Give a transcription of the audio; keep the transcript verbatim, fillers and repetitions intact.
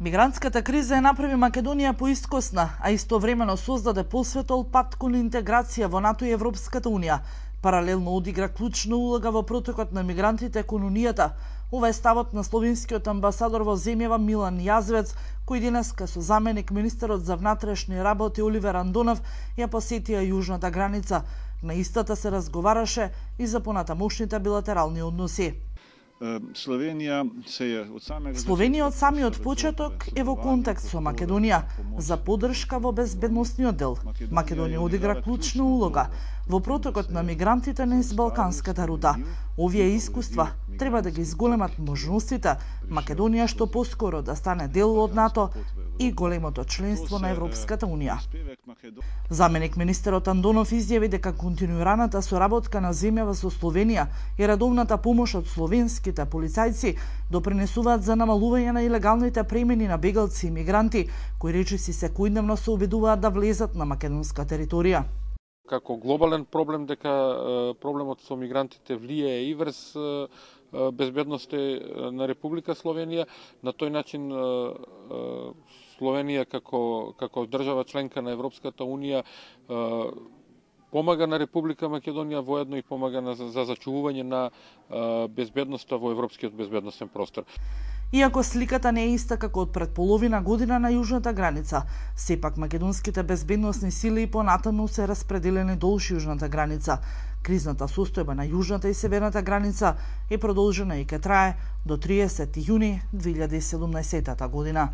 Мигрантската криза ја направи Македонија поискосна, а истовремено создаде посветол пат кон интеграција во НАТО и Европската Унија. Паралелно одигра клучна улога во протокот на мигрантите кон Унијата. Ова е ставот на словенскиот амбасадор во земјава Милан Јазвец, кој денеска со заменик министерот за внатрешни работи Оливер Андонов ја посетија јужната граница. На истата се разговараше и за понатамошните билатерални односи. Словенија се од самиот Словенија од самиот почеток е во контакт со Македонија за поддршка во безбедносниот дел. Македонија одигра клучна улога во протокот на мигрантите низ Балканската рута. Овие искуства треба да ги зголемат можностите Македонија што поскоро да стане дел од НАТО и големото членство на Европската Унија. Заменик министерот Андонов изјави дека континуираната соработка на земјава со Словенија и редовната помош од словенските полицајци допринесуваат за намалување на илегалните премини на бегалци и мигранти, кои речиси секојдневно се обидуваат да влезат на македонска територија. Како глобален проблем дека проблемот со мигрантите влијае и врз безбедноста на Република Словенија, на тој начин Словенија како како држава членка на Европската Унија помага на Република Македонија, воедно и помага на, за зачувување на безбедноста во европскиот безбедносен простор. Иако сликата не е иста како од пред половина година на јужната граница, сепак македонските безбедносни сили и понатаму се распределени долж јужната граница. Кризната состојба на јужната и северната граница е продолжена и ќе трае до триесети јуни две илјади и седумнаесетата година.